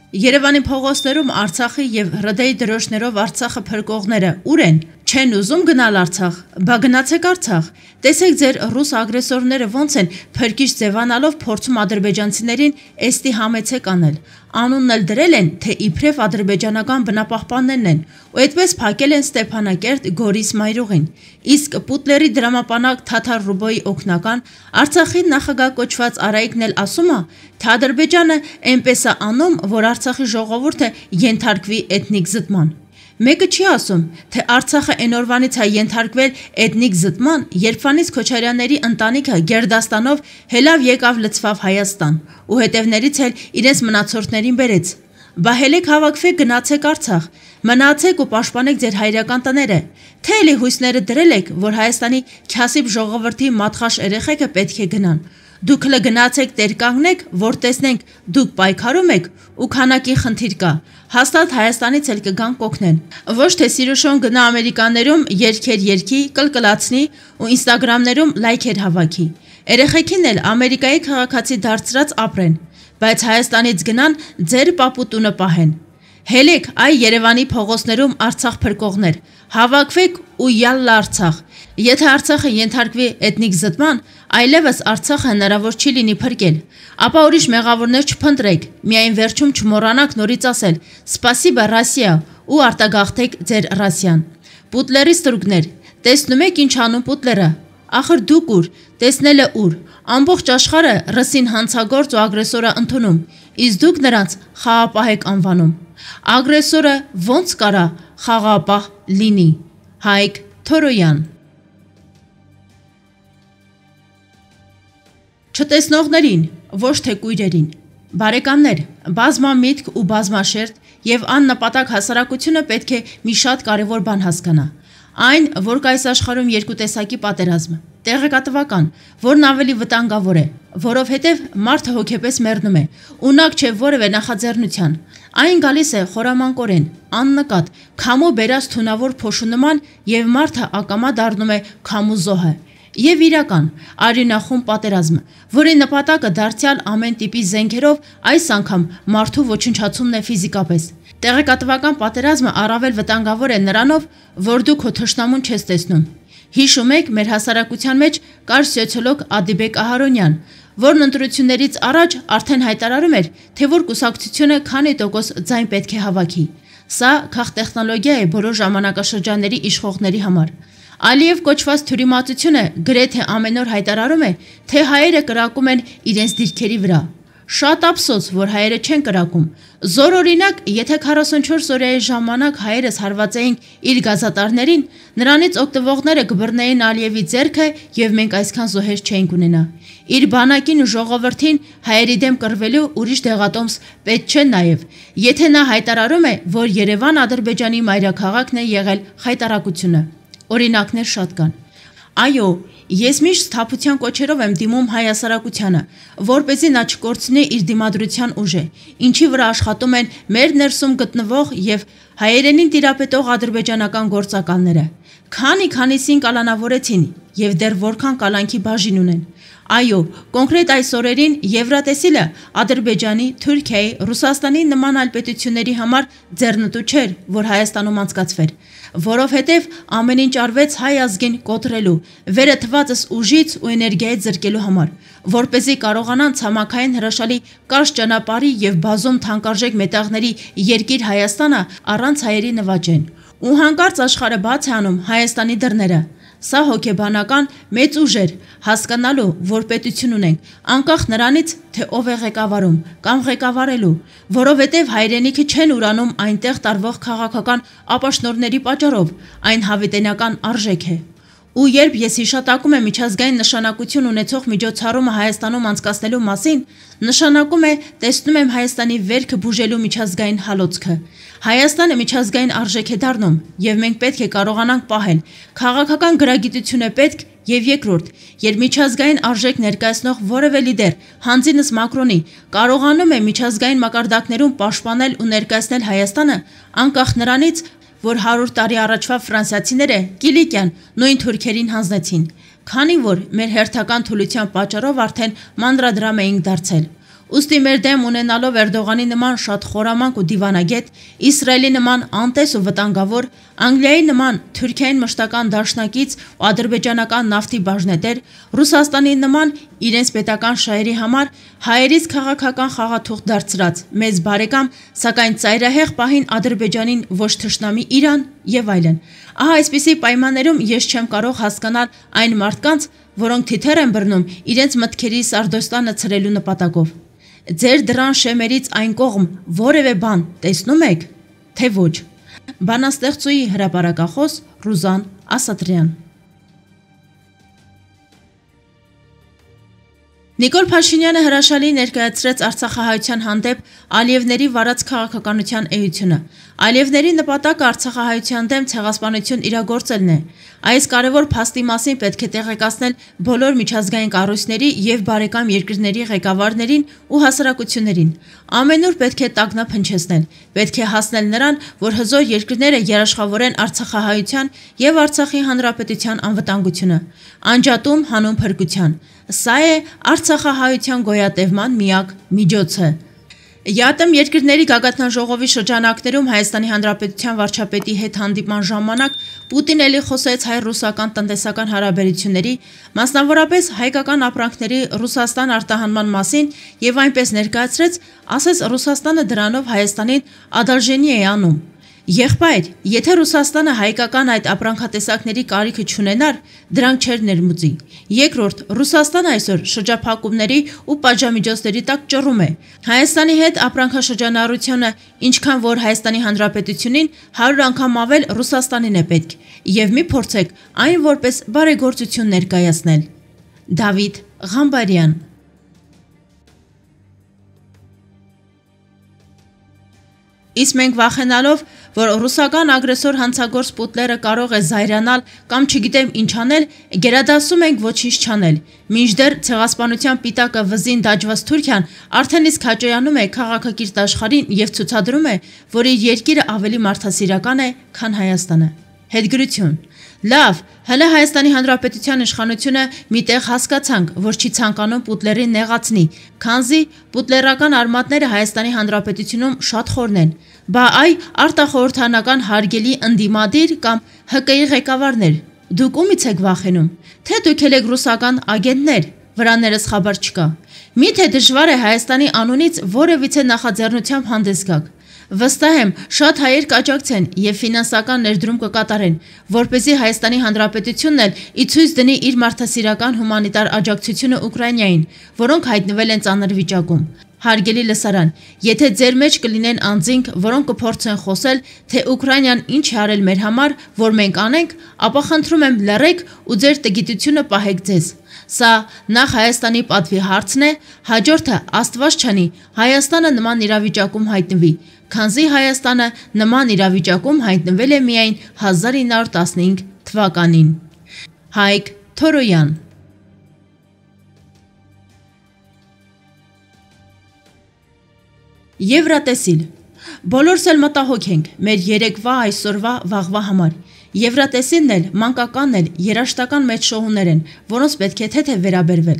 Երևանի փողոցներում Արցախի եւ ՌԴ-ի դրոշներով Արցախը փրկողները ուր են։ Չեն ուզում գնալ Արցախ, բա գնացեք Արցախ։ Տեսեք ձեր ռուս ագրեսորները ոնց են փրկիչ ձևանալով փորձում ադրբեջանցիներին էստի համեցեք անել։ Անունն էլ դրել են, թե իբրև ադրբեջանական բնապահպաններն են, ու այդպես փակել են Ստեփանակերտ Գորիս մայրուղին։ Իսկ Պուտլերի դրամապանակ Թաթար Ռուբոյի օգնական Արցախի նախագահ կոչված Արայիկն էլ ասում է, թե Ադրբեջանը այնպես է անում, որ Արցախի ժողովուրդը ենթարկվի էթնիկ զտման։ Մեկը չի ասում, թե Արցախը այն օրվանից է ենթարկվել էթնիկ զտման, երբվանից Քոչարյանների ընտանիքը Գերդաստանով հելավ եկավ լցվավ Հայաստան, ու հետևներից էլ իրենց մնացորդներին բերեց։ Բա հելեք հավաքվեք գնացեք Արցախ, մնացեք ու պաշտպանեք ձեր հայրական տները, թե էլի հույսները դրել եք, որ Հայաստանի քյասիբ ժողովրդի մատխաշ երեխեքը պետք է գնան։ Դուք հլը գնացեք տեր կանգնեք, որ տեսնենք դուք պայքարում եք ու քանակի խնդիր կա, հաստատ Հայաստանից էլ կգան կօգնեն։ Ոչ թե Սիրուշոն գնա Ամերիկաներում երգեր երգի, կլկլացնի ու ինստագրամներում լայքեր հավաքի։ Երեխեքին էլ Ամերիկայի քաղաքացի դարձրած ապրեն, բայց Հայաստանից գնան ձեր պապուտունը պահեն։ Հելեք այ Երևանի փողոցներում Արցախ փրկողներ, հավաքվեք ու յալլա Արցախ։ Եթե Արցախը ենթարկվի էթնիկ զտման, այլևս Արցախը հնարավոր չի լինի փրկել, ապա ուրիշ մեղավորներ չփնտրեք, միայն վերջում չմոռանաք նորից ասել «Սպասիբա Ռոսիա» ու արտագաղթեք ձեր Ռոսիան։ Պուտլերի ստրուկներ, տեսնում եք ինչ անում Պուտլերը։ Ախր դուք ուր, տեսնելը ուր, ամբողջ աշխարհը ռսին հանցագործ ու ագրեսորը ընդունում, իսկ դուք նրանց խաղապահ եք անվանում։ Ագրեսորը ոնց կարա խաղապահ լինի։ Հայկ Թորոյան։ Չտեսնողներին, ոչ թե կույրերին։ Բարեկամներ, բազմամիտք ու բազմաշերտ եւ աննպատակ հասարակությունը պետք է մի շատ կարևոր բան հասկանա։ Այն, որ կայս աշխարհում երկու տեսակի պատերազմ, տեղեկատվական, որն ավելի վտանգավոր է, որովհետև մարդը հոգեպես մեռնում է, ունակ չէ որևէ նախաձեռնության։ Այն գալիս է խորամանկորեն, աննկատ, քամու բերած թունավոր փոշու նման եւ մարդը ակամա դառնում է քամու զոհը։ Եվ իրական, արյունախում պատերազմ, որի նպատակը դարձյալ ամեն տիպի զենքերով այս անգամ մարդու ոչնչացումն է ֆիզիկապես։ Տեղեկատվական պատերազմը առավել վտանգավոր է նրանով, որ դու քո թշնամուն չես տեսնում։ Հիշում եք, մեր հասարակության մեջ կար սոցիոլոգ Ադիբեկ Ահարոնյան, որն ընտրություններից առաջ արդեն հայտարարում էր, թե որ կուսակցությունը քանի տոկոս ձայն պետք է հավաքի։ Սա քաղտեխնոլոգիա է բոլոր ժամանակաշրջանների իշխողների համար։ Ալիև կոչված թյուրիմացությունը գրեթե ամեն օր հայտարարում է, թե հայերը կրակում են իրենց դիրքերի վրա։ Շատ ափսոս, որ հայերը չեն կրակում։ Զորօրինակ, եթե 44 օրյայի ժամանակ հայերս հարվածեինք իր գազատարներին, նրանից օգտվողները կբռնեին Ալիևի ձեռքը եւ մենք այսքան զոհեր չէինք ունենա։ Իր բանակին ու ժողովրդին հայերի դեմ կռվելու ուրիշ դեղատոմս պետք չէ նաեւ, եթե նա հայտարարում է, որ Երևան Ադրբեջանի մայրաքաղաքն է եղել խայտարակությունը։ Օրինակներ շատ կան։ Այո, ես միշտ սթափության կոչերով եմ դիմում հայ հասարակությանը, որպեսզի նա չկորցնի իր դիմադրության ուժը, ինչի վրա աշխատում են մեր ներսում գտնվող եւ հայերենին տիրապետող ադրբեջանական գործակալները։ Քանիսին կալանավորեցին եւ դեռ որքան կալանքի բաժին ունեն։ Այո, կոնկրետ այս օրերին Եվրատեսիլը Ադրբեջանի, Թուրքիայի, Ռուսաստանի նման այլ պետությունների համար ձեռնտու չէր, որ Հայաստանում անցկացվեր, որովհետև ամեն ինչ արվեց հայ ազգին կոտրելու, վերը թվածս ուժից ու էներգիայից զրկելու համար, որպեսզի կարողանան ցամաքային հրաշալի կարճ ճանապարհի եւ բազում թանկարժեք մետաղների երկիր Հայաստանը առանց հայերի նվաճեն։ Ու հանկարծ աշխարհը բաց է անում Հայաստանի դռները։ Սա հոգեբանական մեծ ուժ էր հասկանալու, որ պետություն ունենք, անկախ նրանից, թե ով է ղեկավարում կամ ղեկավարելու, որովհետև հայրենիքը չեն ուրանում այնտեղ տարվող քաղաքական ապաշնորհների պատճառով, այն հավիտենական արժեք է։ Ու երբ ես հիշատակում եմ միջազգային նշանակություն ունեցող միջոցառումը Հայաստանում անցկացնելու մասին, նշանակում է տեսնում եմ Հայաստանի վերքը բուժելու միջազգային հալոցքը։ Հայաստանը միջազգային արժեք է դառնում, եւ մենք պետք է կարողանանք պահել։ Քաղաքական գրագիտություն է պետք, եւ երկրորդ, երբ միջազգային արժեք ներկայացնող որևէ լիդեր, հանձինս Մակրոնի, կարողանում է միջազգային մակարդակներում պաշտպանել ու ներկայացնել Հայաստանը, անկախ նրանից, որ 100 տարի առաջվա ֆրանսիացիները Կիլիկյան նույն թուրքերին հանձնեցին, քանի որ մեր հերթական թուլության պատճառով արդեն մանրադրամ էինք դարձել։ Ուստի մեր դեմ ունենալով Էրդողանի նման շատ խորամանկ ու դիվանագետ, Իսրայելի նման անտես ու վտանգավոր, Անգլիայի նման Թուրքիային մշտական դաշնակից ու ադրբեջանական նավթի բաժնետեր, Ռուսաստանի նման իրենց պետական շահերի համար հայերից քաղաքական խաղաթուղթ դարձրած մեծ բարեկամ, սակայն ծայրահեղ պահին Ադրբեջանին ոչ թշնամի Իրան եւ այլն։ Ահա այսպիսի պայմաններում ես չեմ կարող հասկանալ այն մարդկանց, որոնք թիթեռ են բռնում իրենց մտքերի Սարդոստանը ցրելու նպատակով։ Ձեր դրան շեմերից այն կողմ որևէ բան տեսնում եք, թե ոչ։ Բանաստեղծուի հրապարակախոս Ռուզան Ասատրյան։ Նիկոլ Փաշինյանը հրաշալի ներկայացրեց Արցախահայության հանդեպ Ալիևների վարած քաղաքականության էությունը։ Ալիևների նպատակը Արցախահայության դեմ ցեղասպանություն իրագործելն է։ Այս կարևոր փաստի մասին պետք է տեղեկացնել բոլոր միջազգային կառույցների եւ բարեկամ երկրների ղեկավարներին ու հասարակություններին։ Ամենուր պետք է տագնապ հնչեցնել, պետք է հասնել նրան, որ հզոր երկրները երաշխավորեն Արցախահայության եւ Արցախի հանրապետության անվտանգությունը։ Անջատում հանուն փրկության։ Սա է Արցախահայության գոյատևման միակ միջոցը։ ԵԱՏՄ երկրների գագաթնաժողովի շրջանակներում Հայաստանի Հանրապետության վարչապետի հետ հանդիպման ժամանակ Պուտին էլի խոսեց հայ-ռուսական տնտեսական հարաբերությունների, մասնավորապես հայկական ապրանքների Ռուսաստան արտահանման մասին եւ այնպես ներկայացրեց, ասես Ռուսաստանը դրանով Հայաստանին ադալժենի է անում։ Եղբայր, եթե Ռուսաստանը հայկական այդ ապրանքատեսակների կարիքը չունենար, դրանք չէր ներմուծի։ Երկրորդ, Ռուսաստանը այսօր շրջափակումների ու պատժամիջոցների տակ ճռում է։ Հայաստանի հետ ապրանքաշրջանառությունը, ինչքան որ Հայաստանի Հանրապետությունին 100 անգամ ավել Ռուսաստանին է պետք, եւ մի փորձեք այն որպես բարեգործություն ներկայացնել։ Դավիթ Ղամբարյան։ Իսկ մենք վախենալով, որ ռուսական ագրեսոր հանցագործ Պուտլերը կարող է զայրանալ կամ չգիտեմ ինչ անել, գերադասում ենք ոչինչ չանել։ Մինչդեռ ցեղասպանության պիտակը վզին դաջված Թուրքիան արդեն իսկ հաճոյանում է քաղաքակիրթ աշխարհին եւ ցուցադրում է, որ իր երկիրը ավելի մարդասիրական է, քան Հայաստանը։ Հետգրություն։ Լավ, հələ Հայաստանի Հանրապետության իշխանությունը միտեղ հասկացանք, որ չի ցանկանում Պուտլերին նեղացնի, քանզի պուտլերական արմատները Հայաստանի Հանրապետությունում շատ խորն են։ Բա այ արտախորհրդանական հարգելի ընդդիմադիր կամ ՀԿ-ի ղեկավարներ, դուք ումից եք վախենում, թե դուք եք ռուսական ագենտներ, վրաներս խաբար չկա։ Միթե դժվար է Հայաստանի անունից որևիցե նախաձեռնությամբ հանդես գաք։ Վստահ եմ, շատ հայեր կաջակցեն եւ ֆինանսական ներդրում կկատարեն, որպեսզի Հայաստանի Հանրապետությունն էլ ի ցույց դնի իր մարդասիրական հումանիտար աջակցությունը Ուկրաինային, որոնք հայտնվել են ծանր վիճակում։ Հարգելի լսարան, եթե ձեր մեջ կլինեն անձինք, որոնք կփորձեն խոսել, թե Ուկրաինան ինչ է արել մեր համար, որ մենք անենք, ապա խնդրում եմ լռեք ու ձեր տգիտությունը պահեք ձեզ։ Սա նախ Հայաստանի պատվի հարցն է, հաջորդը Աստված չանի, Հայաստանը նման իրավիճակում հայտնվի, քանզի Հայաստանը նման իրավիճակում հայտնվել է միայն 1915 թվականին։ Հայկ Թորոյան։ Եվրատեսիլ։ Բոլորս էլ մտահոգ ենք մեր երեկվա, այսօրվա, վաղվա համար։ Եվրատեսիլն էլ, մանկականն էլ, երաշտական մեծ շոհուներ են, որոնց պետք է թեթև վերաբերվել։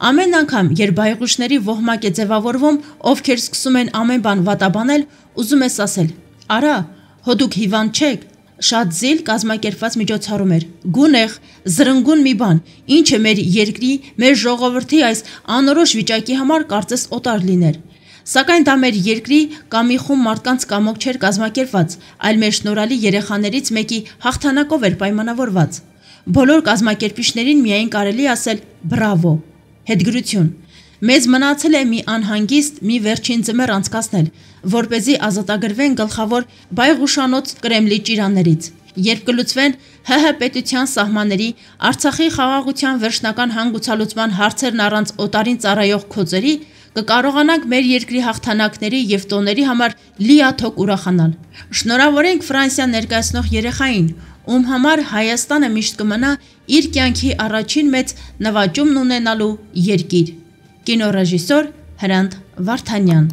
Ամեն անգամ, երբ բայղուշների ոհմակ է ձևավորվում, ովքեր սկսում են ամեն բան վատաբանել, ուզում ես ասել. «Արա, հո դուք հիվանդ չեք»։ Շատ զիլ կազմակերպված միջոցառում էր։ Գունեղ, զրնգուն մի բան, ինչը մեր երկրի, մեր ժողովրդի այս անորոշ վիճակի համար կարծես օտար լիներ։ Սակայն դա մեր երկրի կամ մի խումբ մարդկանց կամոք չէր կազմակերպված, այլ մեր շնորհալի երեխաներից մեկի հաղթանակով էր պայմանավորված։ Բոլոր կազմակերպիչներին միայն կարելի ասել բրավո։ Հետգրություն։ Մեզ մնացել է մի անհանգիստ, մի վերջին ձմեռ անցկացնել, որպեսզի ազատագրվեն գլխավոր բայղուշանոց Կրեմլի ճիրաններից։ Երբ կլուծվեն ՀՀ պետության սահմանների, Արցախի խաղաղության վերջնական հանգուցալուծման հարցերն առանց օտարին ծառայող քոծերի, կկարողանանք մեր երկրի հաղթանակների եւ տոների համար լիաթոք ուրախանալ։ Շնորհավորենք Ֆրանսիան ներկայացնող երեխային, ում համար Հայաստանը միշտ կմնա իր կյանքի առաջին մեծ նվաճումն ունենալու երկիր։ Կինոռեժիսոր Հրանտ Վարդանյան։